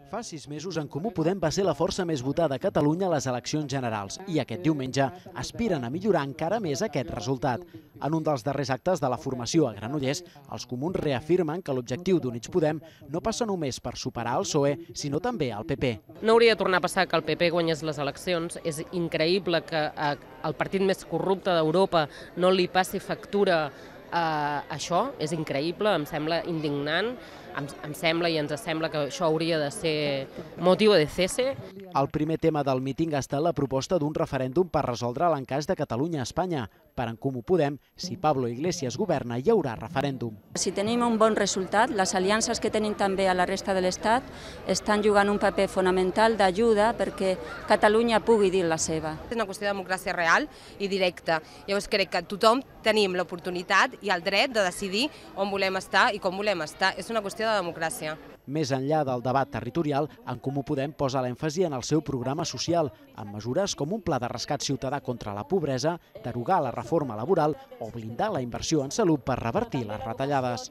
Fa 6 mesos, En Comú Podem va ser la força més votada a Catalunya a les eleccions generals i aquest diumenge aspiren a millorar encara més aquest resultat. En un dels darrers actes de la formació a Granollers, els comuns reafirmen que l'objectiu d'Units Podem no passa només per superar el PSOE, sinó també el PP. No hauria de tornar a passar que el PP guanyés les eleccions. És increïble que el partit més corrupte d'Europa no li passi factura això. És increïble, em sembla indignant. Em sembla i ens sembla que això hauria de ser motiu de cese. El primer tema del míting ha estat la proposta d'un referèndum per resoldre l'encaix de Catalunya a Espanya. Per En Comú Podem, si Pablo Iglesias governa, hi haurà referèndum. Si tenim un bon resultat, les aliances que tenim també a la resta de l'Estat estan jugant un paper fonamental d'ajuda perquè Catalunya pugui dir la seva. És una qüestió de democràcia real i directa. Llavors crec que tothom tenim l'oportunitat i el dret de decidir on volem estar i com volem estar. És una qüestió de democràcia. Més enllà del debat territorial, En Comú Podem posa l'èmfasi en el seu programa social, amb mesures com un pla de rescat ciutadà contra la pobresa, derogar la reforma laboral o blindar la inversió en salut per revertir les retallades.